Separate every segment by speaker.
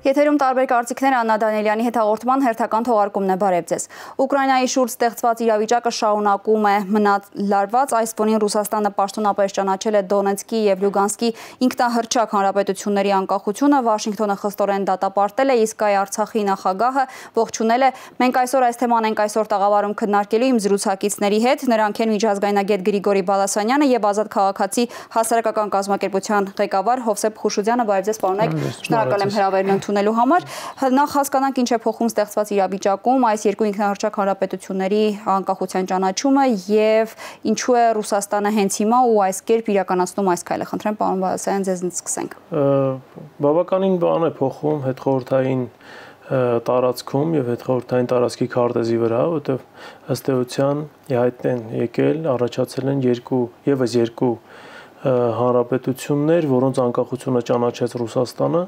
Speaker 1: Եթերում տարբեր կարծիքներ Աննա Դանիելյանի հետ հաղորդման հերթական թողարկումն է, բարև ձեզ։ Ուկրաինայի շուրջ ստեղծված իրավիճակը շարունակում է մնալարված, այս ֆոնին Ռուսաստանը պաշտոնապես ճանաչել է Դոնեցկի եւ Լյուգանսկի ինքնահռչակ հանրապետությունների անկախությունը, Վաշինգտոնը խստորեն դատապարտել է, իսկ այ Արցախի նախագահը ողջունել է։ Մենք այսօր այս թեման ենք այսօր տաղավարում քննարկելու իմ զրուցակիցների հետ, նրանք են միջազգայնագետ Գրիգորի Բալասանյանը եւ Ազատ քաղաքացի հասարակական կազմակերպության ղեկավար Հովսեփ Խուշուձյանը, բարև ձեզ պարոններ, շնորհակալ եմ հրավերն ընդունելու համար։ Նախ հասկանանք ինչ է փոխում ստեղծված իրավիճակում այս երկու ինքնահռչակ հանրապետությունների անկախության ճանաչումը եւ ինչու է Ռուսաստանը հենց հիմա ու այս կերպ իրականացնում այս քայլը։ Խնդրեմ պարոն Բալասանյան, ձեզնից սկսենք։
Speaker 2: Բավականին բան է փոխում հետխորհրդային տարածքում եւ հետխորհրդային տարածքի քարտեզի վրա, որտեղ ըստ էության հայտ են եկել, առաջացել են երկու հանրապետություններ, որոնց անկախությունը ճանաչեց Ռուսաստանը։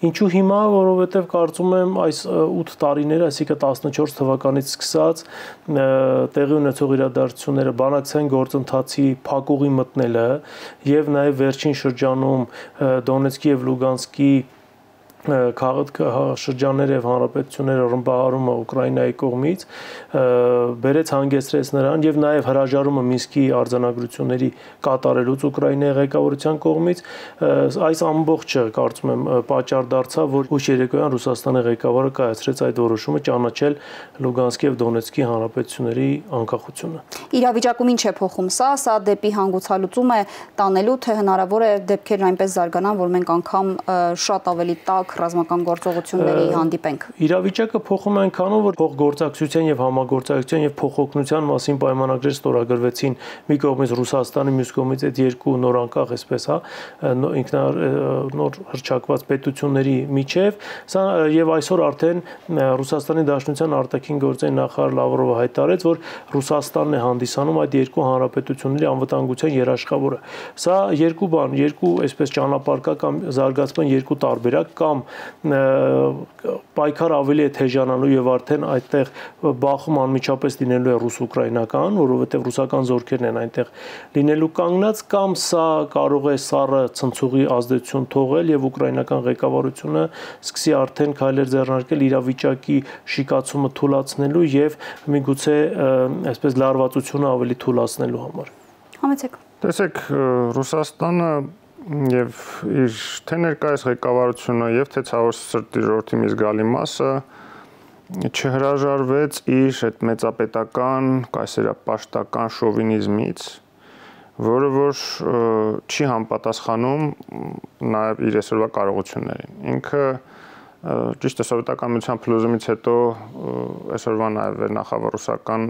Speaker 2: Ինչու հիմա, որովհետև կարծում եմ այս 8 տարիները, այսինքն 14 թվականից սկսած տեղի ունեցող իրադարձությունները, բանակցային գործընթացի փակուղի մտնելը եւ նաեւ վերջին շրջանում Դոնեցկի եւ Լուգանսկի քաղաքաշրջանները եւ հանրապետությունները ռմբահարումը Ուկրաինայի կողմից բերեց հանգեցրեց նրան եւ նաեւ հրաժարումը Մինսկի արձանագրությունների կատարելուց Ուկրաինայի ղեկավարության կողմից այս ամբողջը կարծում եմ պատճառ դարձավ, որ ուշ երեկոյան Ռուսաստանի ղեկավարը կայացրեց այդ որոշումը ճանաչել Լուգանսկի եւ Դոնեցկի հանրապետությունների անկախությունը։
Speaker 1: Իրավիճակում ինչ է փոխում սա դեպի հանգուցալուծում է տանելու, թե հնարավոր է դեպքերն այնպես զարգանան, որ մենք անգամ շատ ավելի տաք ռազմական գործողությունների հանդիպենք։
Speaker 2: Իրավիճակը փոխում է այնքանով, որ փոխգործակցության եւ համագործակցության եւ փոխօգնության մասին պայմանագրեր ստորագրվեցին մի կողմից Ռուսաստանի, մյուս կողմից այդ երկու նոր անկախ, այսպես նոր հռչակված պետությունների միջև, սա եւ այսօր արդեն Ռուսաստանի Դաշնության արտաքին գործերի նախարար Լավրովը հայտարարեց, որ Ռուսաստանն է հանդիսանում այդ երկու հանրապետությունների անվտանգության երաշխավորը։ Սա երկու այսպես ճանապարհկա կամ զարգացման երկու տարբերակ կամ պայքար ավելի է թեժանալու եւ արդեն այդտեղ բախում անմիջապես լինելու է ռուս-ուկրաինական, որովհետեւ ռուսական զորքերն են այնտեղ լինելու կանգնած, կամ սա կարող է սառը ցնցուղի ազդեցություն թողել եւ ուկրաինական ղեկավարությունը սկսի արդեն քայլեր ձեռնարկել իրավիճակի շիկացումը թույլատնելու եւ միգուցե այսպես լարվածությունը ավելի թույլատնելու համար։
Speaker 1: Համեցեք։
Speaker 3: Տեսեք, Ռուսաստանը եւ իր թե ներկայիս ղեկավարությունը եւ թե ցավոք սրտի ժողովրդի մի զգալի մասը չհրաժարվեց իր այդ մեծապետական կայսերապաշտական շովինիզմից, որը որ չի համապատասխանում նաեւ իր այսօրվա կարողություններին։ Ինքը ճիշտ է սովետական միության փլուզումից հետո այսօրվա նաեւ վերնախավառուսական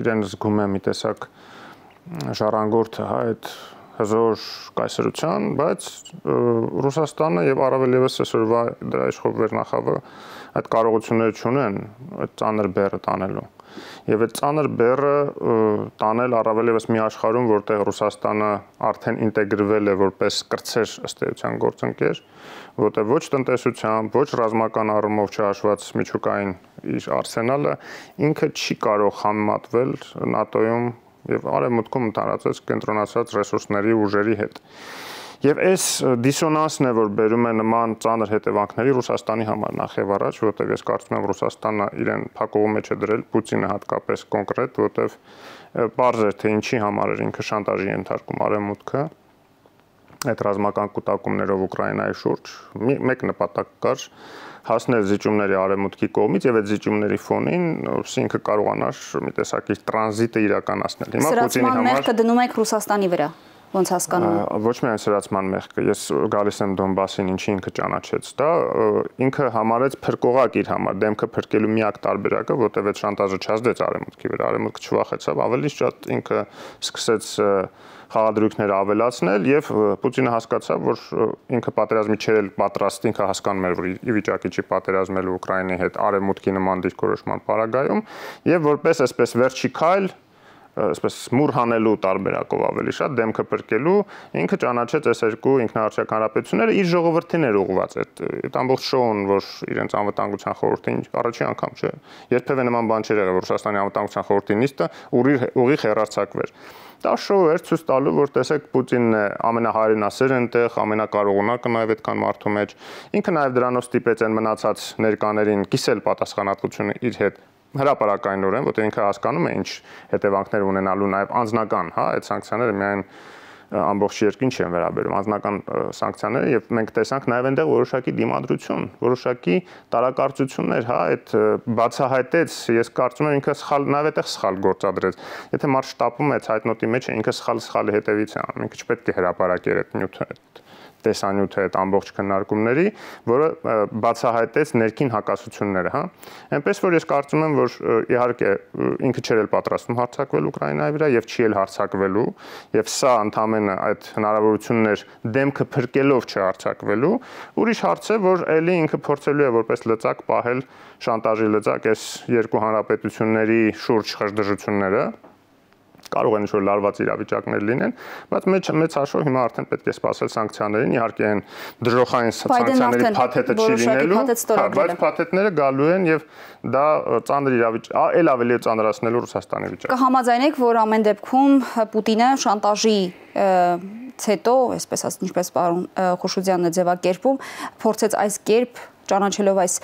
Speaker 3: իրեն զգում է մի տեսակ ժառանգորդը, հա, այդ հզոր կայսրության, բայց Ռուսաստանը եւ առավել եւս այսօրվա դրա իշխող վերնախավը այդ կարողությունները չունեն այդ ծանր բեռը տանելու։ Եվ այդ ծանր բեռը տանել առավել եւս մի աշխարհում, որտեղ Ռուսաստանը արդեն ինտեգրվել է որպես կրտսեր ըստ էության գործընկեր, որտեղ ոչ տնտեսությամբ, ոչ ռազմական առումով չհաշված միջուկային իր արսենալը ինքը չի կարող համեմատվել ՆԱՏՕ-ում եւ արևմուտքում ընդհանրացած կենտրոնացած ռեսուրսների ուժերի հետ։ Եվ այս դիսոնանսն է, որ բերում է նման ծանր հետևանքների Ռուսաստանի համար նախ եւ առաջ, որտեղ ես կարծում եմ Ռուսաստանը իրեն փակուղու մեջ է դրել, Պուտինը հատկապես կոնկրետ, որտեղ պարզ է թե ինչի համար էր ինքը շանտաժի ենթարկում արևմուտքը այդ ռազմական կուտակումներով Ուկրաինայի շուրջ։ Մեկ նպատակ կար հասնել զիջումների արևմուտքի կողմից եւ այդ զիջումների ֆոնին ինքը կարողանար մի տեսակ իր տրանզիտը իրականացնել։ Հիմա Պուտինի համար
Speaker 1: մեղքը դնում եք Ռուսաստանի վրա, ոնց հասկանում եմ։
Speaker 3: Ոչ միայն սրացման մեղքը, ես գալիս եմ Դոնբասին, ինչի ինքը ճանաչեց դա, ինքը համարեց փրկողակ իր համար, դեմքը փրկելու միակ տարբերակը, որտեղ այդ շանտաժը չազդեց արևմուտքի վրա, արևմուտքը չվախեցավ, ավելի շատ ինքը սկսեց խաղադրույքները ավելացնել եւ Պուտինը հասկացավ, որ ինքը պատերազմի չէր պատրաստ, ինքը հասկանում էր, որ ի վիճակի չի պատերազմելու Ուկրաինայի հետ արևմուտքի նման դիրքորոշման պարագայում եւ որպես այսպես վերջի քայլ այսպես մուր հանելու տարբերակով ավելի շատ դեմքը փրկելու ինքը ճանաչեց այս երկու ինքնահարճակ հանրապետությունները իր ժողովրդին էր ուղղված այդ ամբողջ շոուն, որ իրենց անվտանգության խորհրդին առաջին անգամ չէ, երբևէ նման բան չէր եղել, որ Ռուսաստանի անվտանգության խորհրդի նիստը ուղիղ հեռարձակվեր։ Դա շոու էր ցույց տալու, որ տեսեք Պուտինն է ամենահայրենասեր այնտեղ, ամենակարողունակը նաև այդքան մարդու մեջ։ Ինքը նաև դրանով ստիպեց այն մնացած ներկաներին կիսել պատասխանատվությունը իր հետ հրապարակայնորեն, որտեղ ինքը հասկանում է ինչ հետևանքներ ունենալու նաև անձնական, հա, այդ սանկցիաները միայն ամբողջ երկրին չեն վերաբերում, անձնական սանկցիաները եւ մենք տեսանք նաև այնտեղ որոշակի դիմադրություն, որոշակի տարակարծություններ, հա, այդ բացահայտեց, ես կարծում եմ ինքը սխալ նաև այդտեղ սխալ գործադրեց։ Եթե մարդ շտապում է ցայտնոտի մեջ, ինքը սխալի հետևից է անում, ինքը չպետք է հրապարակեր այդ նյութը, տեսանյութը այդ ամբողջ քննարկումների, որը բացահայտեց ներքին հակասությունները, հա։ Այնպես որ ես կարծում եմ, որ իհարկե ինքը չէր էլ պատրաստվում հարձակվել Ուկրաինայի վրա եւ չի էլ հարձակվելու, եւ սա ընդամենը այդ հնարավորությունն էր դեմքը փրկելով չհարձակվելու, ուրիշ հարց է, որ ելի ինքը փորձելու է որպես լծակ պահել շանտաժի լծակ այս երկու հանրապետությունների շուրջ խժդժությունները կարող են ինչ-որ լարված իրավիճակներ լինեն, բայց մեծ հաշվով հիմա արդեն պետք է սպասել սանկցիաներին, իհարկե այն դժոխային սանկցիաների փաթեթը չի լինելու, բայց փաթեթները գալու են եւ դա ծանր իրավիճակ, ել ավելի ծանրացնելու Ռուսաստանի վիճակը։
Speaker 1: Կհամաձայնեք, որ ամեն դեպքում Պուտինը շանտաժի հետո, այսպես ասած, ինչպես պարոն Խուշուձյանն է ձևակերպում, փորձեց այս կերպ ճանաչելով այս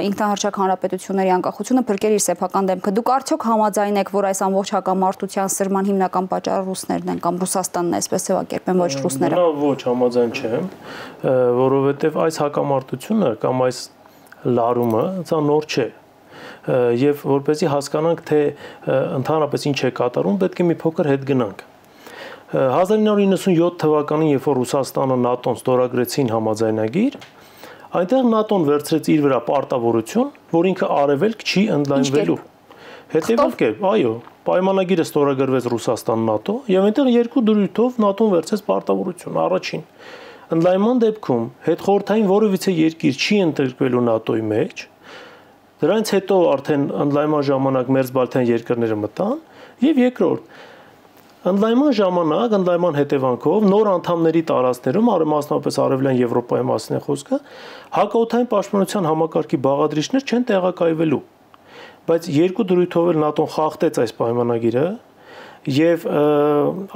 Speaker 1: ինքնահարճակ հանրապետությունների անկախությունը փրկել իր սեփական դեմքը։ Դուք արդյոք համաձայնեք, որ այս ամբողջ հակամարտության սրման հիմնական պատճառը ռուսներն են կամ Ռուսաստանն է, այսպես ձևակերպեն, ոչ ռուսները։
Speaker 2: Ոչ, համաձայն չեմ, որովհետև այս հակամարտությունը կամ այս լարումը դա նոր չէ։ Եվ որպեսզի հասկանանք, թե ընդհանրապես ինչ է կատարում, պետք է մի փոքր հետ գնանք։ 1997 թվականին, երբ որ Ռուսաստանը ՆԱՏՕ-ն ստորագրեցին համաձայնագիր, այնտեղ ՆԱՏՕ-ն վերցրեց իր վրա պարտավորություն, որ ինքը արևելք չի ընդլայնվելու։ Հետևյալ կերպ, այո, պայմանագիրը ստորագրվեց Ռուսաստան-ՆԱՏՕ, եւ այնտեղ երկու դրույթով ՆԱՏՕ-ն վերցրեց պարտավորություն։ Առաջին, ընդլայնման դեպքում հետխորհրդային որևիցե երկիր չի ընդգրկվելու ՆԱՏՕ-ի մեջ։ Դրանից հետո արդեն ընդլայնման ժամանակ մերձբալթյան երկրները մտան, եւ երկրորդ, ընդլայնման ժամանակ, ընդլայնման հետևանքով նոր անդամների տարածքներում, մասնավորապես Արևելյան Եվրոպայի մասին է խոսքը, հակաօդային պաշտպանության համակարգի բաղադրիչներ չեն տեղակայվելու։ Բայց երկու դրույթով էլ ՆԱՏՕ-ն խախտեց այս պայմանագիրը եւ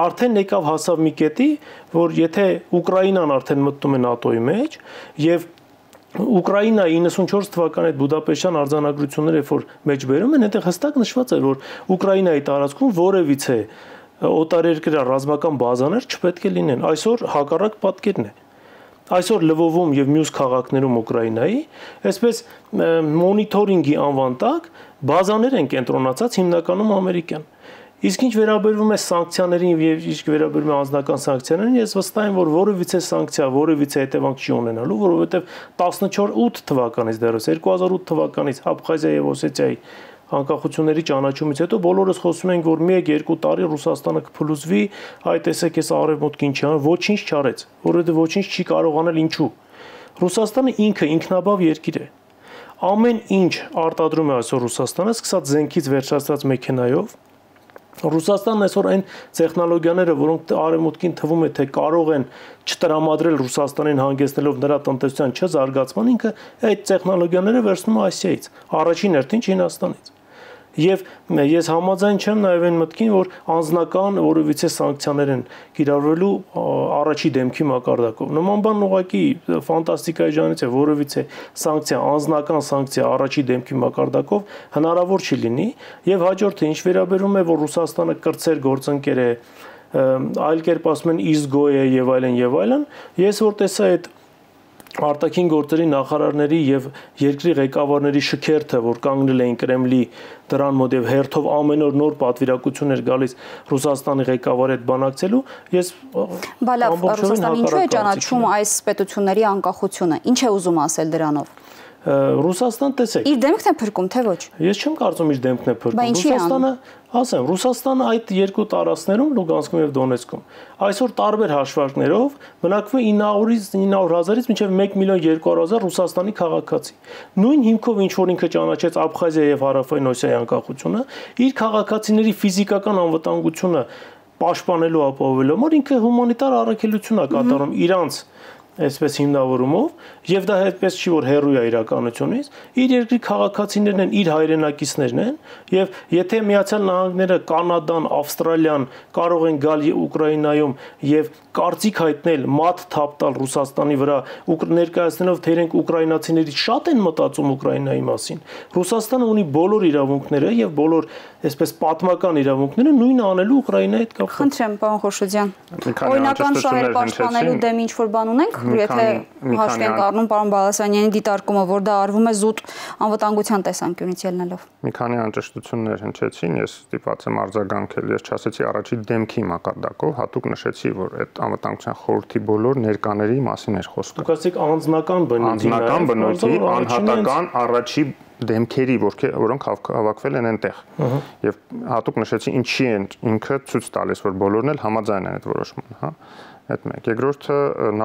Speaker 2: արդեն եկավ հասավ մի կետի, որ եթե Ուկրաինան արդեն մտնում է ՆԱՏՕ-ի մեջ եւ Ուկրաինայի 94 թվականի այդ Բուդապեշտյան արձանագրությունները, որ մեջբերում են, այնտեղ հստակ նշված է, որ Ուկրաինայի տարածքում որևիցե օտարերկրյա ռազմական բազաներ չպետք է լինեն։ Այսօր հակառակ պատկերն է։ Այսօր Լվովում եւ մյուս քաղաքներում Ուկրաինայի, այսպես մոնիթորինգի անվան տակ բազաներ են կենտրոնացած հիմնականում ամերիկյան։ Իսկ ինչ վերաբերվում է սանկցիաներին եւ ինչ վերաբերում է անձնական սանկցիաներին, ես վստահ եմ, որ որևիցե սանկցիա, որևիցե հետևանք չի ունենալու, որովհետեւ 14 թվականից դեռս 2008 թվականից Աբխազիա եւ Օսեթիայի անկախությունների ճանաչումից հետո բոլորս խոսում ենք, որ 1-2 տարի Ռուսաստանը կփլուզվի, այ տեսեք, այս արևմուտքին չի անում, ոչինչ չարեց, որովհետեւ ոչինչ չի կարող անել, ինչու։ Ռուսաստանը ինքը ինքնաբավ երկիր է։ Ամեն ինչ արտադրում է այսօր Ռուսաստանը, սկսած զենքից վերջացած մեքենայով։ Ռուսաստանն այսօր այն տեխնոլոգիաները, որոնք արևմուտքին թվում է, թե կարող են չտրամադրել Ռուսաստանին հանգեցնելով նրա տնտեսության չզարգացման, ինքը այդ տեխնոլոգիաները վերցնում է Ասիայից, առաջին հերթին Չինաստանից։ Եվ ես համաձայն չեմ նաև այն մտքին, որ անձնական որևիցե սանկցիաներ են կիրառվելու առաջի դեմքի մակարդակով։ Նման բան ուղղակի ֆանտաստիկայի ժանրից է, որևիցե սանկցիա, անձնական սանկցիա առաջի դեմքի մակարդակով հնարավոր չի լինի, եւ հաջորդը ինչ վերաբերում է, որ Ռուսաստանը կրտսեր գործընկեր է, այլ կերպ ասում են իզգո է եւ այլն, ես որ տեսա այդ արտաքին գործերի նախարարների եւ երկրի ղեկավարների շքերթը, որ կանգնել էին Կրեմլի դրան մոտ եւ հերթով ամեն օր նոր պատվիրակություններ գալիս Ռուսաստանի ղեկավարի հետ բանակցելու, ես
Speaker 1: Բալավ, Ռուսաստանը ինչու է ճանաչում այս պետությունների անկախությունը։ Ինչ է ուզում ասել դրանով։
Speaker 2: Ռուսաստան տեսեք։
Speaker 1: Իր դեմքն է փրկում, թե ոչ։
Speaker 2: Ես չեմ կարծում իր դեմքն է փրկում։ Ռուսաստանը այդ երկու տարածքներում Լուգանսկում եւ Դոնեցկում այսօր տարբեր հաշվարկներով բնակվում է 900,000-ից մինչև 1,200,000 Ռուսաստանի քաղաքացի։ Նույն հիմքով ինչ որ ինքը ճանաչեց Աբխազիա եւ Հարավային Օսիայի անկախությունը, իր քաղաքացիների ֆիզիկական անվտանգությունը պաշտպանելու ապահովելու համար ինքը հումանիտար առաքելություն է կատարում իրանց այսպես հիմնավորումով եւ դա այդպես չի որ հերոյ է իրականությունից իր երկրի քաղաքացիներն են իր հայրենակիցներն են եւ եթե Միացյալ Նահանգները, Կանադան, Ավստրալիան կարող են գալ Ուկրաինայում եւ կարծիք հայտնել մատ թափ տալ Ռուսաստանի վրա ներկայացնելով թե իրենք ուկրաինացիներից շատ են մտածում Ուկրաինայի մասին Ռուսաստանը ունի բոլոր իրավունքները եւ բոլոր այսպես պատմական իրավունքները նույնը անելու Ուկրաինայի հետ կապված
Speaker 1: Խնդրեմ պարոն Խոշոդյան օրինական շահեր պաշտպանելու դեմ ինչ որ բան ունենք եթե հաշվի ենք առնում պարոն Բալասանյանի դիտարկումը, որ դա արվում է զուտ անվտանգության տեսանկյունից ելնելով։
Speaker 3: Մի քանի անճշտություններ հնչեցին, ես ստիպված եմ արձագանքել, ես չասեցի առաջի դեմքի մակարդակով, հատուկ նշեցի, որ այդ անվտանգության խորհրդի բոլոր ներկաների մասին էր խոսքը։
Speaker 2: Դուք ասեք անձնական
Speaker 3: բնույթի, անհատական առաջի դեմքերի, որոնք հավաքվել են այնտեղ։ Եվ հատուկ նշեցի ինչի են ինքը ցույց տալիս, որ բոլորն էլ համաձայն են այդ որոշմանը, հա։ Այդ մեկ։ Երկրորդը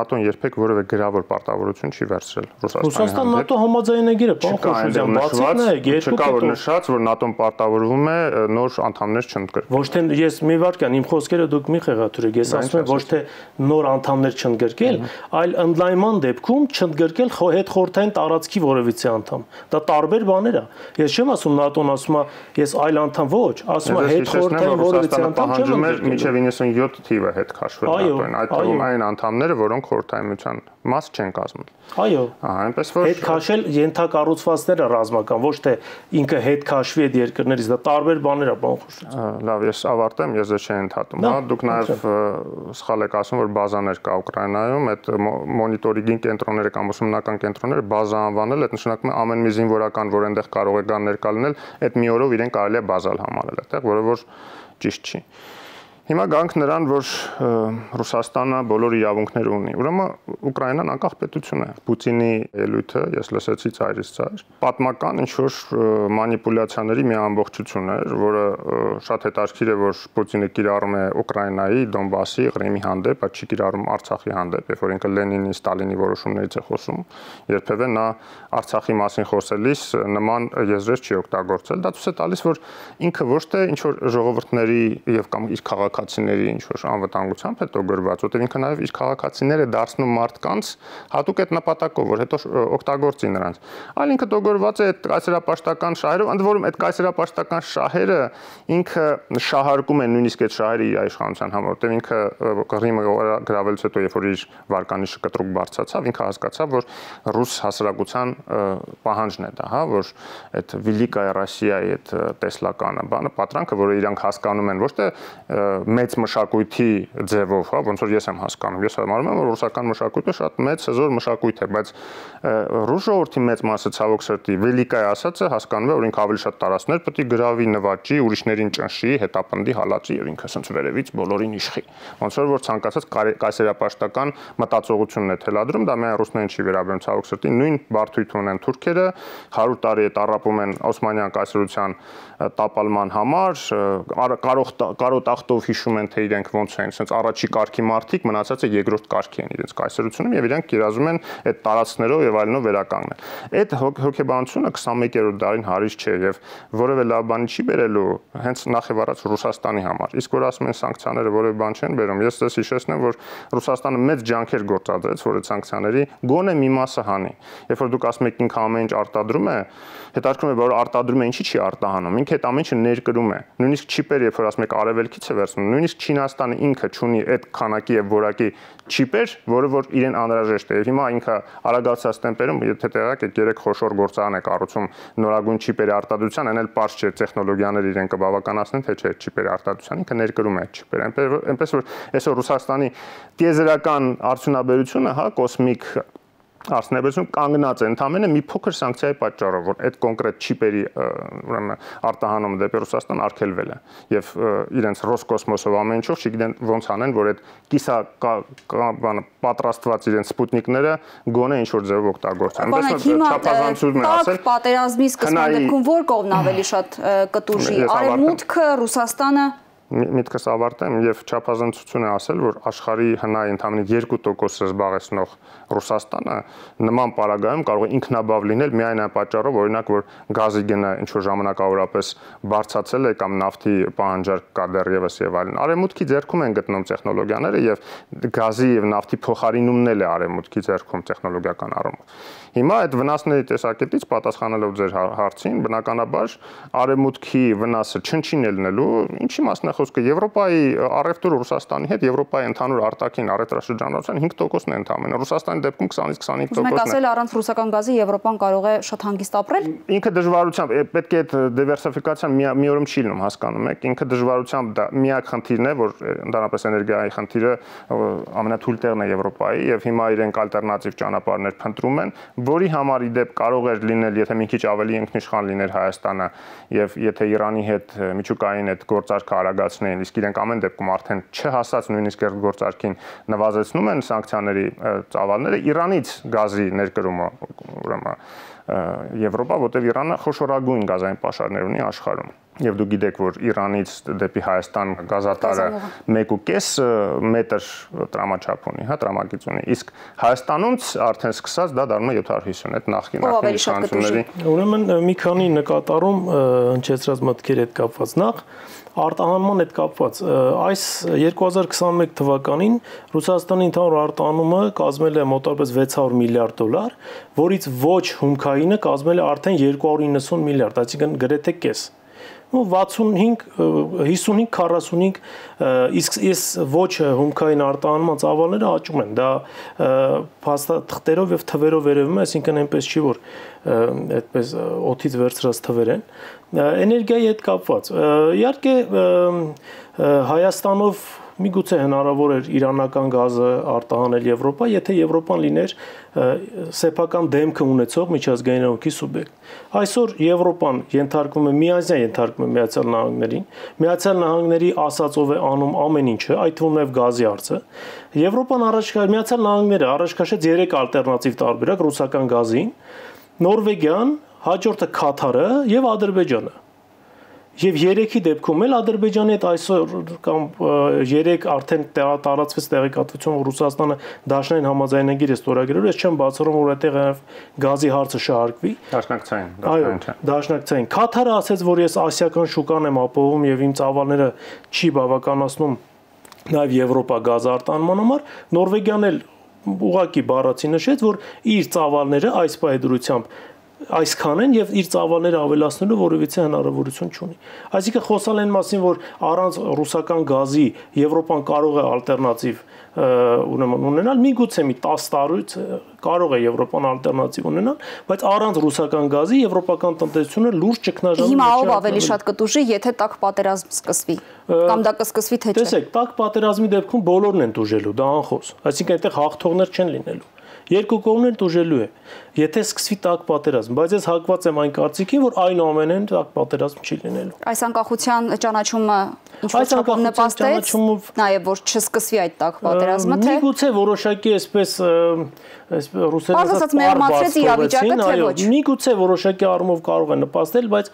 Speaker 3: ՆԱՏՕ-ն երբեք որևէ գրավոր պարտավորություն չի վերցրել
Speaker 2: Ռուսաստանի հանդեպ։ Ռուսաստան ՆԱՏՕ համաձայնագիրը, պարոն Խոշոդյան, բացիկ նայեք,
Speaker 3: չկա որ նշած, որ ՆԱՏՕ-ն պարտավորվում է նոր անդամներ չընդգրկել։
Speaker 2: Ոչ թե ես մի վարքյան, իմ խոսքերը դուք մի խեղաթյուրեք, ես ասում եմ ոչ թե նոր անդամներ չընդգրկել, այլ ընդլայնման դեպքում չընդգրկել հետխորհրդային տարածքի որևիցե անդամ։ Դա տարբեր բաներ է։ Ես չեմ ասում ՆԱՏՕ-ն ասում է, ես այլ անդամ ոչ, ասում է հետխորհրդային որևիցե անդամ չեմ ընդգրկել։
Speaker 3: Մինչև 97 թիվը հետ քաշվել ՆԱՏՕ-ին, այդ թվում այն անդամները, որոնք խորհրդային միության մաս չեն կազմել։
Speaker 2: Այո։
Speaker 3: Այնպես որ
Speaker 2: հետ քաշել ենթակառուցվածքները ռազմական, ոչ թե ինքը հետ քաշվի այդ երկրներից, դա տարբեր բաներ է, պարոն Խոշոդյան։
Speaker 3: Լավ, ես ավարտեմ, ես դա չեմ ընդհատում, հա, դուք նաև սխալ եք ասում, որ բազաներ կա Ուկրաինայում, այդ մոնիտորինգի կենտրոնները կամ ուսումնական կենտրոնները բազա անվանել, այդ նշանակում է ամեն մի զինվորական, որ այնտեղ կարող է գան ներկա լինել, այդ մի օրով իրեն կարելի է բազալ համարել այդտեղ, որը որ ճիշտ չի։ Հիմա գանք նրան, որ Ռուսաստանը բոլոր իրավունքները ունի։ Ուրեմն Ուկրաինան անկախ պետություն է։ Պուտինի ելույթը, ես լսեցի ծայրից ծայր, պատմական ինչ-որ մանիպուլյացիաների մի ամբողջություն էր, որը շատ հետաքրքիր է, որ Պուտինը կիրառում է Ուկրաինայի, Դոնբասի, Ղրիմի հանդեպ, բայց չի կիրառում Արցախի հանդեպ, երբ որ ինքը Լենինի, Ստալինի որոշումներից է խոսում, երբևէ նա Արցախի մասին խոսելիս նման եզրեր չի օգտագործել։ Դա ցույց է տալիս, որ ինքը ոչ թե ինչ-որ ժողովուրդների եւ կամ իր քաղաքացիների ինչ-որ անվտանգությամբ հետո գրված, որտեղ ինքը նաև իր քաղաքացիները դարձնում մարդկանց հատուկ այդ նպատակով, որ հետո օգտագործի նրանց։ Այլ ինքը դոգորված է այդ կայսերապաշտական շահերով, ընդ որում այդ կայսերապաշտական շահերը ինքը շահարկում է նույնիսկ այդ շահերը իր իշխանության համար, որտեղ ինքը Ղրիմը գրավելուց հետո, երբ որ իր վարկանիշը կտրուկ բարձրացավ, ինքը հասկացավ, որ ռուս հասարակության պահանջն է դա, հա, որ այդ Վիլիկայա Ռոսիայի այդ տեսլականը բանը, պատրանքը, որը իրանք հասկանում են ոչ թե մեծ մշակույթի ձևով, հա, ոնց որ ես եմ հասկանում։ Ես համարում եմ, որ ռուսական մշակույթը շատ մեծ հզոր մշակույթ է, բայց ռուս ժողովրդի մեծ մասը ցավոք սրտի Վիլիկայա ասածը հասկանում է, որ ինքը ավելի շատ տարածքներ պետք է գրավի, նվաճի, ուրիշներին ճնշի, հետապնդի, հալածի եւ ինքը ասենց վերևից բոլորին իշխի։ Ոնց որ ցանկացած կայսերապաշտական մտածողությունն է թելադրում, դա միայն ռուսներին չի վերաբերում ցավոք սրտի, նույն բարդույթ ունեն թուրքերը, 100 տարի է տառապում են Օսմանյան կայսրության տապալման համար, կարոտ ախտով հիշում են, թե իրենք ոնց են, ասենց առաջի կարգի մարդիկ, մնացածը երկրորդ կարգի են իրենց կայսրությունում եւ իրենք կիրառում են այդ տարածքներով եւ այլնով վերականգնել։ Այդ հոգեբանությունը 21-րդ դարին հարից չէ եւ որևէ լավ բան չի բերելու հենց նախ եւ առաջ Ռուսաստանի համար։ Իսկ որ ասում են սանկցիաները որևէ բան չեն բերում, ես ձեզ հիշեցնեմ, որ Ռուսաստանը մեծ ջանքեր գործադրեց, որ այդ սանկցիաների գոնե մի մասը հանի։ Երբ որ դուք ասում եք ինքը ամեն ինչ արտադրում է, հետաքրքրում է, որ արտադրում է, ինչի չի արտահանում։ Ինքը այդ ամեն ինչը ներկրում է։ Նույնիսկ չիպեր, երբ որ ասում եք արևելքից է վերցնում, նույնիսկ Չինաստանը ինքը ունի այդ քանակի եւ որակի չիպեր, որը որ իրեն անհրաժեշտ է։ Եվ հիմա ինքը արագացած տեմպերում, եթե տեղակ եք 3 խոշոր գործարան է կառուցում նորագույն չիպերի արտադրության, այն էլ պարզ չէ տեխնոլոգիաները իրեն կբավականացնեն, թե չէ չիպերի արտադրության, ինքը ներկրում է այդ չիպերը։ Այնպես որ այսօր Ռուսաստանի տիեզերական արդյունաբերությունը, հա, կոսմիկ Արդյունաբերությունը կանգնած է ընդամենը մի փոքր սանկցիայի պատճառով, որ այդ կոնկրետ չիպերի ուրեմն արտահանումը դեպի Ռուսաստան արգելվել է եւ իրենց Ռոսկոսմոսով ամեն ինչով չգիտեն ոնց անեն, որ այդ կիսա պատրաստված իրենց սպուտնիկները գոնե ինչ որ ձևով օգտագործեն։
Speaker 1: Այնպես չափազանցում են ասել։ Պատերազմի սկզբնա դեպքում որ կողմն ավելի շատ կտուժի, Արևմուտքը, Ռուսաստանը։
Speaker 3: Միտքս ավարտեմ եւ չափազանցություն է ասել, որ աշխարհի հնայի ընդամենը 2%-ը զբաղեցնող Ռուսաստանը նման պարագայում կարող է ինքնաբավ լինել միայն այն պատճառով, օրինակ, որ գազի գնը ինչ որ ժամանակավորապես բարձրացել է կամ նավթի պահանջարկ կա դեռևս եւ այլն։ Արևմուտքի ձեռքում են գտնում տեխնոլոգիաները եւ գազի եւ նավթի փոխարինումն էլ է արևմուտքի ձեռքում տեխնոլոգիական առումով։ Հիմա այդ վնասների տեսակետից պատասխանելով ձեր հարցին, բնականաբար արևմուտքի վնասը չնչին ելնելու, ինչի մասն է խոսքը Եվրոպայի առևտուրը Ռուսաստանի հետ, Եվրոպայի ընդհանուր արտաքին առևտրաշրջանառության 5%-ն է ընդամենը, Ռուսաստանի դեպքում 20-ից 25%-ն է։
Speaker 1: Մենք ասել առանց ռուսական գազի Եվրոպան կարող է շատ հանգիստ ապրել։
Speaker 3: Ինքը դժվարությամբ պետք է այդ դիվերսիֆիկացիան մի օրում չի լինում, հասկանում եք, ինքը դժվարությամբ դա միակ խնդիրն է, որ ընդհանրապես էներգիայի խնդիրը ամենաթույլ տեղն է Եվրոպայի եւ հիմա իրենք ալտերնատիվ ճանապարհներ փնտրում են, որի համար ի դեպ կարող էր լինել, եթե մի քիչ ավելի ինքնիշխան լիներ Հայաստանը եւ եթե Իրանի հետ միջուկային այդ գործարքը արագացնեին, իսկ իրենք ամեն դեպքում արդեն չհասած նույնիսկ այդ գործարքին նվազեցնում են սանկցիաների ծավալները, Իրանից գազի ներկրումը ուրեմն Եվրոպա, որտեղ Իրանը խոշորագույն գազային պաշարներ ունի աշխարհում։ Եվ դու գիտեք, որ Իրանից դեպի Հայաստան գազատարը 1.5 մետր տրամաչափ ունի, հա, տրամագիծ ունի։ Իսկ Հայաստանից արդեն սկսած դա դառնում է 750, այդ նախկին իշխանությունների։
Speaker 2: Ուրեմն մի քանի նկատառում հնչեցրած մտքերի հետ կապված նախ արտահանման հետ կապված այս 2021 թվականին Ռուսաստանի ընդհանուր արտահանումը կազմել է մոտավորապես 600 միլիարդ դոլար, որից ոչ հումքայինը կազմել է արդեն 290 միլիարդ, այսինքն գրեթե կես։ 55-45, իսկ ես ոչ հումքային արտահանման ծավալները աճում են, դա փաստաթղթերով եւ թվերով վերևում է, այսինքն այնպես չի, որ այդպես օդից վերցրած թվեր են։ Էներգիայի հետ կապված, իհարկե Հայաստանով միգուցե հնարավոր էր իրանական գազը արտահանել Եվրոպա, եթե Եվրոպան լիներ սեփական դեմքը ունեցող միջազգային իրավունքի սուբյեկտ։ Այսօր Եվրոպան ենթարկվում է միազյան ենթարկվում է Միացյալ Նահանգներին, Միացյալ Նահանգների ասածով է անում ամեն ինչը, այդ թվում նաև գազի հարցը։ Եվրոպան Միացյալ Նահանգները առաջ քաշեց 3 ալտերնատիվ տարբերակ ռուսական գազին, Նորվեգիան, հաջորդը Քաթարը եւ Ադրբեջանը։ Եվ 3-ի դեպքում էլ Ադրբեջանի հետ այսօր կամ 3 արդեն տարածվեց տեղեկատվություն, որ Ռուսաստանը դաշնային համաձայնագիր է ստորագրել, ես չեմ բացառում, որ այդտեղ գազի հարցը շահարկվի։
Speaker 3: Դաշնակցային։
Speaker 2: Դաշնակցային։ Քաթարը ասաց, որ ես ասիական շուկան եմ ապահովում եւ իմ ծավալները չի բավականացնում նաեւ Եվրոպա գազ արտահանման համար, Նորվեգիան էլ ուղղակի բառացի նշեց, որ իր ծավալները այս պայդրությամբ այսքան են եւ իր ծավալները ավելացնելու որևիցե հնարավորություն չունի։ Այսինքն խոսալ են մասին, որ առանց ռուսական գազի Եվրոպան կարող է ալտերնատիվ ունենալ, միգուցե մի 10 տարուց կարող է Եվրոպան ալտերնատիվ ունենալ, բայց առանց ռուսական գազի եվրոպական տնտեսությունը լուրջ ճգնաժամի
Speaker 1: Հիմա ով ավելի շատ կտուժի, եթե տաք պատերազմ սկսվի, կամ դա կսկսվի թե չէ։
Speaker 2: Տեսեք, տաք պատերազմի դեպքում բոլորն են տուժելու, դա անխոս։ Այսինքն այդտեղ հաղթողներ չեն լինելու։ Երկու կողմն էլ տուժելու է, եթե սկսվի տաք պատերազմ, բայց ես հակված եմ այն կարծիքին, որ այնուամենայնիվ տաք պատերազմ չի լինելու։
Speaker 1: Այս անկախության ճանաչումը ինչ-որ չափով նպաստեց, նաև որ չսկսվի այդ տաք պատերազմը, թե
Speaker 2: միգուցե որոշակի այսպես ռուսերեն
Speaker 1: ասած մեղմացրեց իրավիճակը, թե ոչ։
Speaker 2: Միգուցե որոշակի առումով կարող է նպաստել, բայց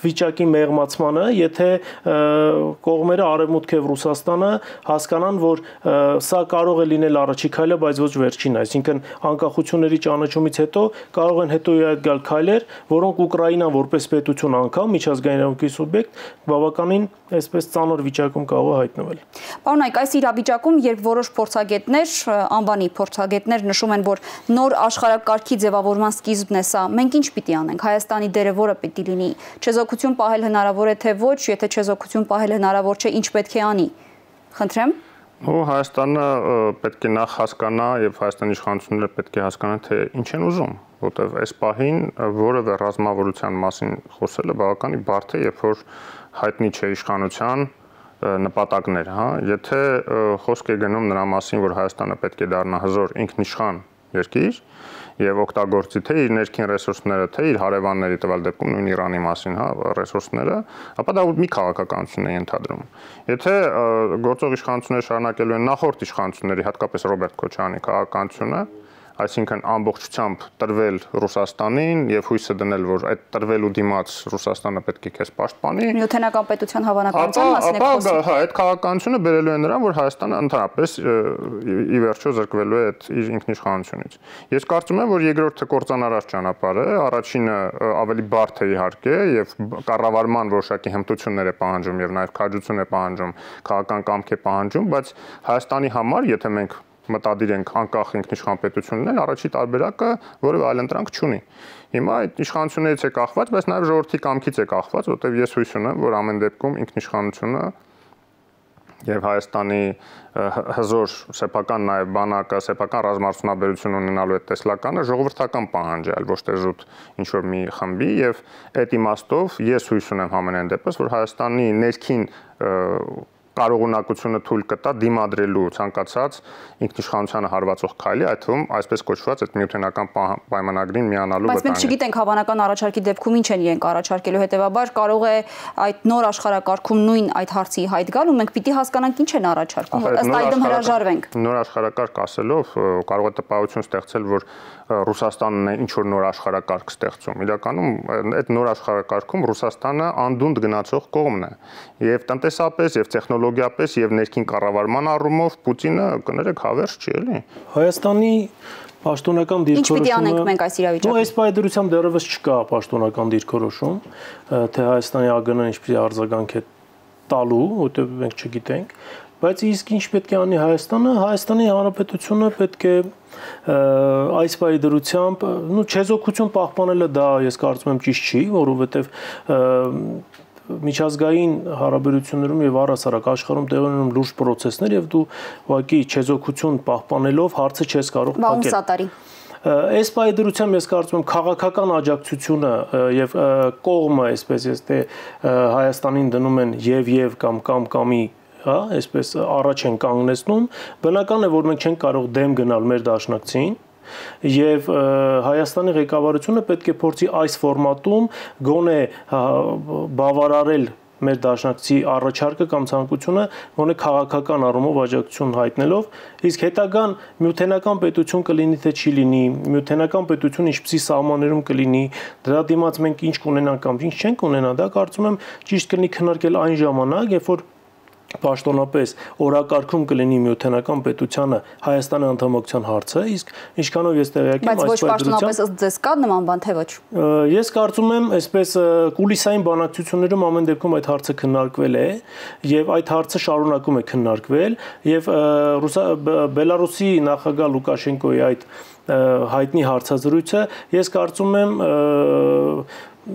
Speaker 2: վիճակի մեղմացմանը, եթե կողմերը Արևմուտքը եւ Ռուսաստանը հասկանան, որ սա կարող է լինել առաջի քայլը, բայց ոչ վերջին, այսինքն անկախությունների ճանաչումից հետո կարող են հետո իհայտ գալ քայլեր, որոնք Ուկրաինան որպես պետություն անգամ միջազգային իրավունքի սուբյեկտ բավականին այսպես ծանր վիճակում կարող է հայտնվել։
Speaker 1: Պարոն Այկ, այս իրավիճակում, երբ որոշ փորձագետներ, անվանի փորձագետներ նշում են, որ նոր աշխարհակարգի ձևավորման սկիզբն է սա, մենք ինչ պիտի անենք, Հայաստանի դերը որը պիտի լինի, չեզոքություն պահել հնարավոր է թե ոչ, եթե չեզոքություն պահել հնարավոր չէ, ինչ պետք է անի։ Խնդրեմ։
Speaker 3: Հայաստանը պետք է նախ հասկանա եւ Հայաստանի իշխանությունները պետք է հասկանան, թե ինչ են ուզում, որտեվ այս պահին որևէ ռազմավարության մասին խոսելը բավականին բարդ է, երբ որ հայտնի չէ իշխանության նպատակներ, հա, եթե խոսք է գնում նրա մասին, որ Հայաստանը պետք է դառնա հզոր ինքնիշխան երկիր եւ օգտագործի թե իր ներքին ռեսուրսները, թե իր հարևանների տվյալ դեպքում նույն Իրանի մասին, հա, ռեսուրսները, ապա դա մի քաղաքականություն է ենթադրում։ Եթե գործող իշխանությունները շարունակելու են նախորդ իշխանությունների, հատկապես Ռոբերտ Քոչարյանի քաղաքականությունը, այսինքն ամբողջությամբ տրվել Ռուսաստանին եւ հույսը դնել, որ այդ տրվելու դիմաց Ռուսաստանը պետք է քեզ պաշտպանի։
Speaker 1: Նյութենական պետության հավանականության մասին եք խոսում։
Speaker 3: Հա, այդ քաղաքականությունը բերելու է նրան, որ Հայաստանը ընդհանրապես ի վերջո զրկվելու է այդ իր ինքնիշխանությունից։ Ես կարծում եմ, որ երկրորդը կործանարար ճանապարհ է, առաջինը ավելի բարդ է իհարկե եւ կառավարման որոշակի հմտություններ է պահանջում եւ նաեւ քաջություն է պահանջում, քաղաքական կամք է պահանջում, բայց Հայաստանի համար, եթե մենք մտադիր ենք անկախ ինքնիշխան պետություն լինել, առաջի տարբերակը որևէ այլ ընտրանք չունի։ Հիմա այդ իշխանություններից է կախված, բայց նաև ժողովրդի կամքից է կախված, որտեղ ես հույս ունեմ, որ ամեն դեպքում ինքնիշխանությունը եւ Հայաստանի հզոր սեփական նաև բանակը, սեփական ռազմարդյունաբերություն ունենալու այդ տեսլականը ժողովրդական պահանջ է, այլ ոչ թե զուտ ինչ որ մի խմբի եւ այդ իմաստով ես հույս ունեմ համենայն դեպս, որ Հայաստանի ներքին կարողունակությունը թույլ կտա դիմադրելու ցանկացած ինքնիշխանությանը հարվածող քայլի, այդ թվում այսպես կոչված այդ նյութենական պայմանագրին միանալու վտանգը։
Speaker 1: Բայց մենք չգիտենք հավանական առաջարկի դեպքում ինչ են իրենք առաջարկելու, հետեւաբար կարող է այդ նոր աշխարհակարգում նույն այդ հարցի հայտ գալ ու մենք պիտի հասկանանք ինչ են առաջարկում, ըստ այդմ հրաժարվենք։
Speaker 3: Նոր աշխարհակարգ ասելով կարող է տպավորություն ստեղծել, որ Ռուսաստանն է ինչ որ նոր աշխարհակարգ ստեղծում։ Իրականում այդ նոր աշխարհակարգում Ռուսաստանը անդունդ գնացող կողմն է։ Եվ տնտեսապես, եւ տեխնոլոգիապես, եւ ներքին կառավարման առումով Պուտինը կներեք հավերժ չի, էլի։
Speaker 2: Հայաստանի պաշտոնական դիրքորոշումը։
Speaker 1: Ինչ պիտի անենք մենք այս իրավիճակում։
Speaker 2: Այս պայմանությամբ դեռևս չկա պաշտոնական դիրքորոշում, թե Հայաստանի ԱԳՆ-ն ինչպեսի արձագանք է տալու, որտեղ մենք չգիտենք, բայց իսկ ինչ պետք է անի Հայաստանը, Հայաստանի Հանրապետությունը պետք է այս պայմանությամբ, չեզոքություն պահպանելը դա ես կարծում եմ ճիշտ չի, որովհետև միջազգային հարաբերություններում եւ առհասարակ աշխարհում տեղի ունենում լուրջ process-ներ եւ դու ուղղակի չեզոքություն պահպանելով հարցը չես կարող փակել։ Այս պայմանությամբ ես կարծում եմ քաղաքական աջակցությունը եւ կողմը, այսպես թե Հայաստանին դնում են եւ կամի, հա, այսպես առաջ են կանգնեցնում, բնական է, որ մենք չենք կարող դեմ գնալ մեր դաշնակցին եւ Հայաստանի ղեկավարությունը պետք է փորձի այս ֆորմատում գոնե բավարարել մեր դաշնակցի առաջարկը կամ ցանկությունը, գոնե քաղաքական առումով աջակցություն հայտնելով, իսկ հետագան նյութենական պետություն կլինի թե չի լինի, նյութենական պետություն ինչպիսի սահմաններում կլինի, դրա դիմաց մենք ինչ կունենանք կամ ինչ չենք ունենա, դա կարծում եմ ճիշտ կլինի քննարկել այն ժամանակ, երբ որ պաշտոնապես օրակարգում կլինի նյութենական պետությանը Հայաստանի անդամակցության հարցը, իսկ ինչքանով ես տեղյակ եմ,
Speaker 1: բայց ոչ պաշտոնապես ըստ ձեզ կա նման բան թե ոչ։
Speaker 2: Ես կարծում եմ, այսպես կուլիսային բանակցություններում ամեն դեպքում այդ հարցը քննարկվել է եւ այդ հարցը շարունակում է քննարկվել եւ Բելարուսի նախագահ Լուկաշենկոյի այդ հայտնի հարցազրույցը ես կարծում եմ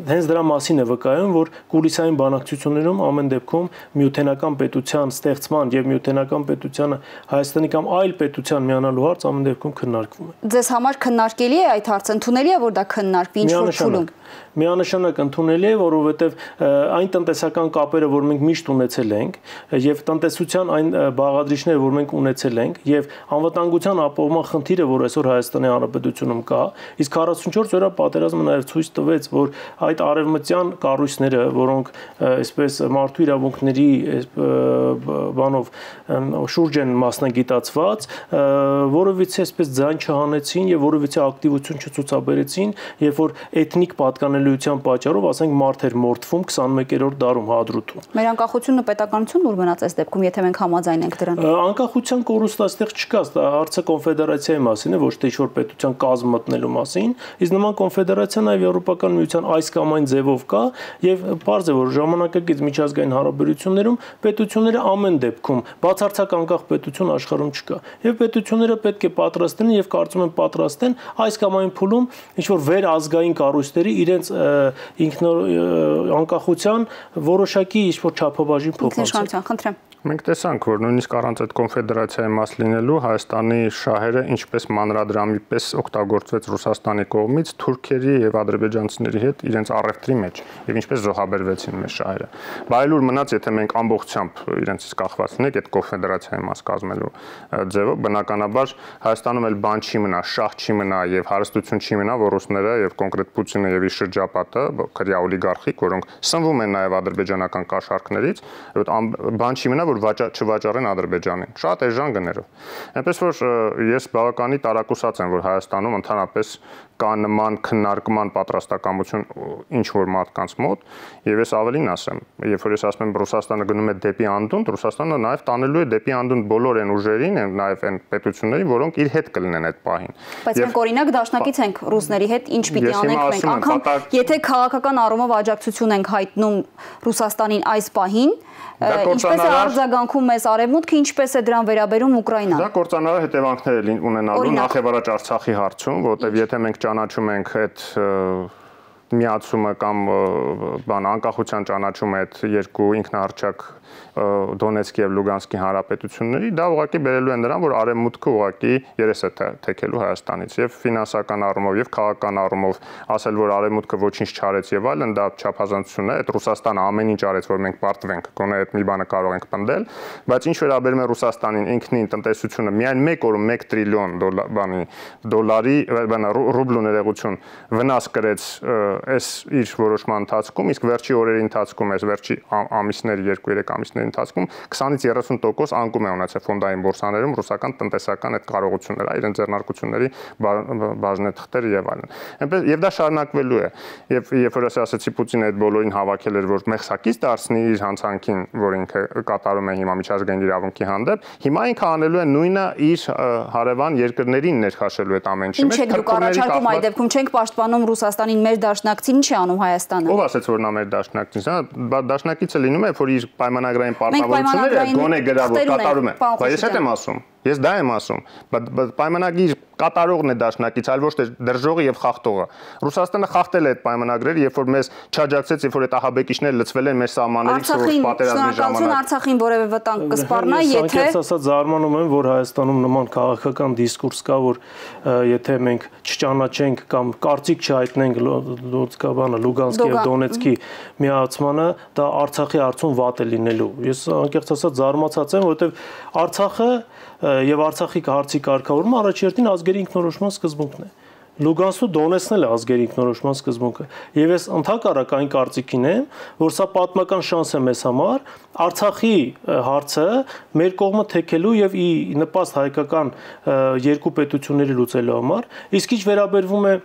Speaker 2: հենց դրա մասին է վկայում, որ կուլիսային բանակցություններում ամեն դեպքում նյութենական պետության ստեղծման եւ նյութենական պետությանը Հայաստանի կամ այլ պետության միանալու հարց ամեն դեպքում քննարկվում է։
Speaker 1: Ձեզ համար քննարկելի է այդ հարցը, ընդունելի է, որ դա քննարկվի ինչ-որ փուլում։
Speaker 2: Միանշանակ ընդունելի է, որովհետև այն տնտեսական կապերը, որ մենք միշտ ունեցել ենք, եւ տնտեսության այն բաղադրիչները, որ մենք ունեցել ենք, եւ անվտանգության ապահովման խնդիրը, որ այսօր Հայաստանի Հանրապետությունում կա, իսկ 44 օրյա պատերազմը նաեւ ցույց տվեց, որ այդ արևմտյան կառույցները, որոնք այսպես մարդու իրավունքների բանով շուրջ են մասնագիտացված, որովհետեւ այսպես ձայն չհանեցին եւ որովհետեւ ակտիվություն չցուցաբերեցին, երբ որ էթնիկ պատկանելիության պատճառով, ասենք, մարդ էր մորթվում 21-րդ դարում Հադրութում։
Speaker 1: Մեր անկախությունը պետականությունն ուր մնաց այս դեպքում, եթե մենք համաձայն ենք դրան։
Speaker 2: Անկախության կորուստ այստեղ չկա, դա հարցը կոնֆեդերացիայի մասին է, ոչ թե ինչ-որ պետության կազմ մտնելու մասին, իսկ նման կոնֆեդերացիան այլ Եվրոպական միության այս կամ այն ձևով կա եւ պարզ է, որ ժամանակակից միջազգային հարաբերություններում պետությունները ամեն դեպքում բացարձակ անկախ պետություն աշխարհում չկա եւ պետությունները պետք է պատրաստեն եւ կարծում եմ պատրաստ են այս կամ այն փուլում ինչ որ վերազգային կառույցների իրենց անկախության որոշակի ինչ-որ չափաբաժին փոխանցել։
Speaker 3: Մենք տեսանք, որ նույնիսկ առանց այդ կոնֆեդերացիայի մաս լինելու Հայաստանի շահերը ինչպես մանրադրամի պես օգտագործվեց Ռուսաստանի կողմից թուրքերի եւ ադրբեջանցիների հետ իրենց առևտրի մեջ եւ ինչպես զոհաբերվեցին մեր շահերը։ Բայլուր մնաց, եթե մենք ամբողջությամբ իրենցից կախված լինենք այդ կոնֆեդերացիայի մաս կազմելու ձևով, բնականաբար Հայաստանում էլ բան չի մնա, շահ չի մնա եւ հարստություն չի մնա, որ ռուսները եւ կոնկրետ Պուտինը եւ իր շրջապատը, քրյա օլիգարխիկ, որոնք սնվում են նաեւ ադրբեջանական կաշառքներից, բան չի մնա, որ չվաճառեն Ադրբեջանին, շատ էժան գներով։ Այնպես որ ես բավականի տարակուսած եմ, որ Հայաստանում ընդհանրապես կա նման քննարկման պատրաստակամություն ինչ որ մարդկանց մոտ, եւ ես ավելին ասեմ, երբ որ ես ասում եմ Ռուսաստանը գնում է դեպի անդունդ, Ռուսաստանը նաեւ տանելու է դեպի անդունդ բոլոր այն ուժերին, նաեւ այն պետություններին, որոնք իր հետ կլինեն այդ պահին։
Speaker 1: Բայց մենք օրինակ դաշնակից ենք ռուսների հետ, ինչ պիտի անենք մենք, անգամ եթե քաղաքական առումով աջակցություն ենք հայտնում Ռուսաստանին այս պահին, ինչպես է արձագանքում մեզ Արևմուտքը, ինչպես է դրան վերաբերում Ուկրաինան։
Speaker 3: Դա կործանարար հետևանքներ ունենալու նախ եւ առաջ Արցախի հարցում, որտեղ եթե մենք ճանաչում ենք այդ միացումը կամ անկախության ճանաչումը այդ երկու ինքնահռչակ Դոնեցկի եւ Լուգանսկի հանրապետությունների, դա ուղղակի բերելու է նրան, որ Արևմուտքը ուղղակի երես է թեքելու Հայաստանից եւ ֆինանսական առումով եւ քաղաքական առումով ասել, որ Արևմուտքը ոչինչ չարեց եւ այլն, դա չափազանցություն է, այդ Ռուսաստանը ամեն ինչ արեց, որ մենք պարտվենք, գոնե այդ մի բանը կարող ենք պնդել, բայց ինչ վերաբերում է Ռուսաստանին ինքնին տնտեսությունը միայն մեկ օրում 1 տրիլիոն դոլարի ռուբլու ներողություն վնաս կրեց այս իր որոշման ընթացքում, իսկ վերջի օրերի ընթացքում, այս վերջի ամիսների 2-3 ամիսների ընթացքում 20-ից 30% անկում է ունեցել ֆոնդային բորսաներում ռուսական տնտեսական այդ կարողությունները, իրենց ձեռնարկությունների բաժնեթղթերը եւ այլն։ Այնպես եւ դա շարունակվելու է։ Եվ երբ որ ասացի Պուտինը այդ բոլորին հավաքել էր, որ մեղսակից դարձնի իր հանցանքին, որ ինքը կատարում է հիմա միջազգային իրավունքի հանդեպ, հիմա ինքը անելու է նույնը իր հարևան երկրներին ներքաշելու այդ ամեն ինչի
Speaker 1: մեջ։ Ինչ եք դուք առաջարկում այդ դեպքում, չենք պաշտպանում Ռուսաստանին, մեր դաշնակցին, ինչ է անում Հայաստանը։
Speaker 3: Ով ասաց, որ նա մեր դաշնակիցն է, դաշնակիցը լինում է, որ իր պայմանագրային պարտավորությունները գոնե գրավոր կատարում է։ Բայց ես հետ եմ ասում, ես դա եմ ասում, բայց պայմանագիր կատարողն է դաշնակից, այլ ոչ թե դրժողը եւ խախտողը։ Ռուսաստանը խախտել է այդ պայմանագրերը, երբ որ մեզ չաջակցեց, երբ որ այդ ահաբեկիչները լցվել են մեր սահմաններից որոշ պատերազմի ժամանակ։
Speaker 1: Արցախին որևէ վտանգ կսպառնա, եթե
Speaker 2: ասած զարմանում եմ, որ Հայաստանում նման քաղաքական դիսկուրս կա, որ եթե մենք չճանաչենք կամ կարծիք չհայտնենք Լուգանսկի եւ Դոնեցկի միացմանը, դա Արցախի հարցում վատ է լինելու։ Ես անկեղծ ասած զարմացած եմ, որովհետեւ Արցախը եւ Արցախի հարցի կարգավորումը առաջերտին ազգերի ինքնորոշման սկզբունքն է։ Լուգանսու Դոնեցկն էլ ազգերի ինքնորոշման սկզբունքը։ Եվ ես ընդհակառակ այն կարծիքին եմ, որ սա պատմական շանս է մեզ համար Արցախի հարցը մեր կողմը թեքելու եւ ի նպաստ հայկական երկու պետությունների լուծելու համար, իսկ ինչ վերաբերվում է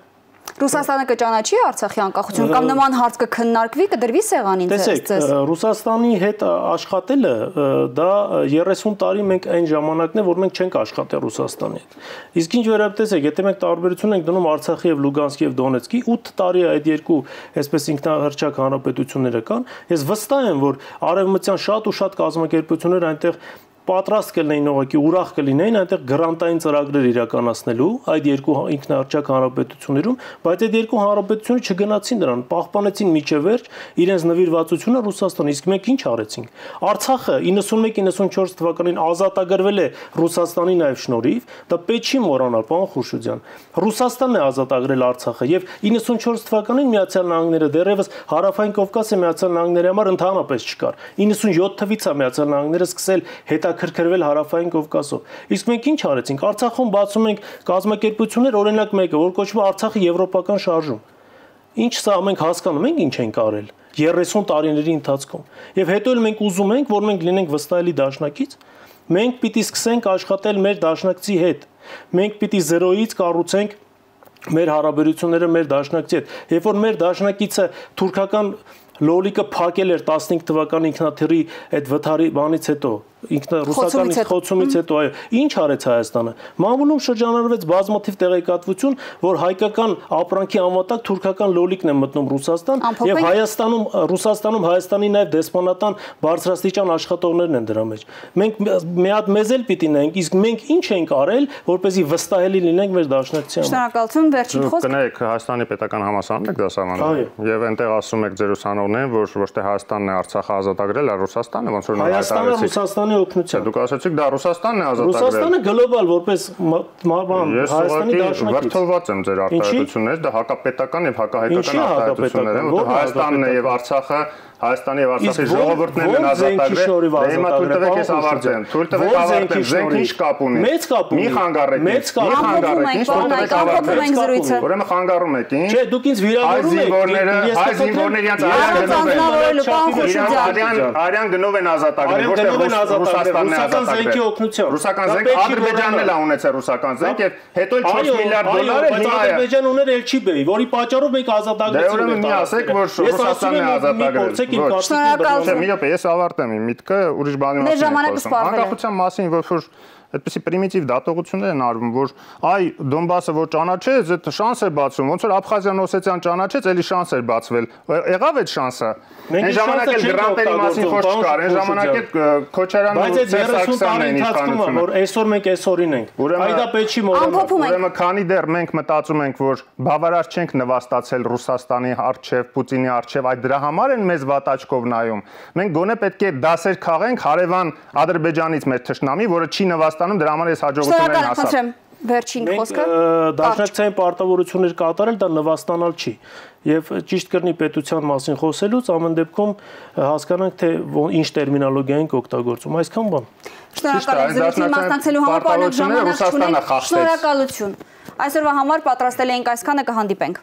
Speaker 1: Ռուսաստանը կճանաչի Արցախի անկախություն կամ նման հարց կքննարկվի, կդրվի սեղանին ձեզ։
Speaker 2: Տեսեք, Ռուսաստանի հետ աշխատելը դա 30 տարի մենք այն ժամանակն է, որ մենք չենք աշխատել Ռուսաստանի հետ։ Իսկ ինչ վերաբերում տեսեք, եթե մենք տարբերություն ենք դնում Արցախի եւ Լուգանսկի եւ Դոնեցկի, 8 տարի այդ երկու այսպես ինքնահռչակ հանրապետությունները կան, ես վստահ եմ, որ արևմտյան շատ ու շատ կազմակերպություններ այնտեղ պատրաստ կլինեին ուղղակի ուրախ կլինեին այնտեղ գրանտային ծրագրեր իրականացնելու այդ երկու ինքնահռչակ հանրապետություններում, բայց այդ երկու հանրապետությունները չգնացին դրան, պահպանեցին միջև վերջ իրենց նվիրվածությունը Ռուսաստանին, իսկ մենք ինչ արեցինք։ Արցախը 91-94 թվականին ազատագրվել է Ռուսաստանի նաև շնորհիվ, դա պետք չի մոռանալ, պարոն Խուրշուդյան։ Ռուսաստանն է ազատագրել Արցախը եւ 94 թվականին Միացյալ Նահանգները դեռևս Հարավային Կովկասը Միացյալ Նահանգների համար ընդհանրապես չկար։ 97 թվականից է Միացյալ Նահանգները սկսել հետաքրքրվել Հարավային Կովկասով։ Իսկ մենք ինչ արեցինք։ Արցախում բացում ենք կազմակերպություններ, օրինակ մեկը, որ կոչվում է Արցախի եվրոպական շարժում։ Ինչ սա մենք հասկանում ենք ինչ ենք արել 30 տարիների ընթացքում։ Եվ հետո էլ մենք ուզում ենք, որ մենք լինենք վստահելի դաշնակից, մենք պիտի սկսենք աշխատել մեր դաշնակցի հետ։ Մենք պիտի զերոյից կառուցենք մեր հարաբերությունները մեր դաշնակցի հետ։ Երբ որ մեր դաշնակիցը թուրքական լոլիկը փակել էր 15 թվականի ինքնաթիռի այդ վթարի բանից հետո, ինքնա ռուսականից խոցումից հետո այո ինչ արեց Հայաստանը մամուլում շրջանառվեց բազմաթիվ տեղեկատվություն որ հայկական ապրանքի անվտանգ թուրքական լոլիկն է մտնում Ռուսաստան եւ Ռուսաստանում Հայաստանի նաեւ դեսպանատան բարձրաստիճան աշխատողներն են դրա մեջ մենք մի հատ մեզ էլ պիտի նայենք իսկ մենք ինչ ենք արել որպեսզի վստահելի լինենք մեր դաշնակցության
Speaker 1: Շնորհակալություն վերջին խոսք
Speaker 3: կներեք Հայաստանի պետական համալսարանն եք դասավանդել եւ այնտեղ ասում եք ձեր ուսանողներին որ ոչ թե Հայաստանն է Արցախը ազատագրել այլ Ռուսաստանը ոնց որ
Speaker 2: Հայաստանը Ռուսաստանի օգնությամբ
Speaker 3: Դուք ասացիք դա Ռուսաստանն է ազատագրել
Speaker 2: Ռուսաստանը գլոբալ որպես Հայաստանի դաշնակից
Speaker 3: վրթովված եմ ձեր արտահայտություններից դա հակապետական եւ հակահայկական արտահայտություններ են որտեղ Հայաստանն է եւ Արցախը Հայաստանի եւ Արցախի ժողովուրդներն են ազատագրել հիմա թույլ տվեք ես ավարտեմ թույլ տվեք ավարտեմ զենքը ինչ կապ ունի
Speaker 2: մեծ կապ ունի
Speaker 3: մի խանգարեք
Speaker 1: մեծ կապ ունի
Speaker 3: ուրեմն խանգարում եք ինչ
Speaker 2: չէ դուք ինձ վիրավորում եք
Speaker 3: հայ զինվորները արյան գնով են ազատագրել ոչ թե Ռուսաստանն է ազատագրել ռուսական զենք Ադրբեջանն էլ ունեցել ռուսական զենք եւ հետո 4 միլիարդ դոլար հիմա
Speaker 2: Ադրբեջանը ուներ Էլչիբեի որի պատճառով մենք ազատագրեցինք
Speaker 3: ուրեմն մի ասեք որ Ռուսաստանն է ազատագրել
Speaker 1: Շնորհակալություն
Speaker 3: մի րոպե ես ավարտեմ իմ միտքը ուրիշ բանի մասին անկախության մասին որ այդպեսի պրիմիտիվ դատողություններ են արվում, որ այ Դոնբասը որ ճանաչեց, այդ շանս է բացվում, ոնց որ Աբխազիան Օսետիան ճանաչեց, էլի շանս էր բացվել։ Եղավ այդ շանսը։ Այն ժամանակ էլ գրանտերի մասին խոսք չկար, այն ժամանակ էլ Քոչարյանն ու Սերսակսյանն էին իշխանությունը,
Speaker 2: որ այսօր մենք այսօրին ենք։ Այ դա պետք չի մոռանալ։
Speaker 3: Ուրեմն քանի դեռ մենք մտածում ենք, որ բավարար չենք նվաստացել Ռուսաստանի արչև, Պուտինի արչև, այդ դրա համար են մեզ վատաճկով նայում։ Մենք գոնե պետք է դասեր քաղենք հարևան Ադրբեջանից մեր թշնամի, որը չի նվաստանում, դրա համար էս հաջողություններն հասավ։
Speaker 1: Վերջին խոսքը
Speaker 2: դաշնակցային պարտավորություններ կատարել դա նվաստանալ չի եւ ճիշտ կրնի պետության մասին խոսելուց ամեն դեպքում հասկանանք թե ինչ տերմինոլոգիա ենք օգտագործում այսքան բան
Speaker 1: Շնորհակալություն մասնակցելու համար պարոն ժամանակ ունենք շնորհակալություն այսօրվա համար պատրաստել էինք այսքանը կհանդիպենք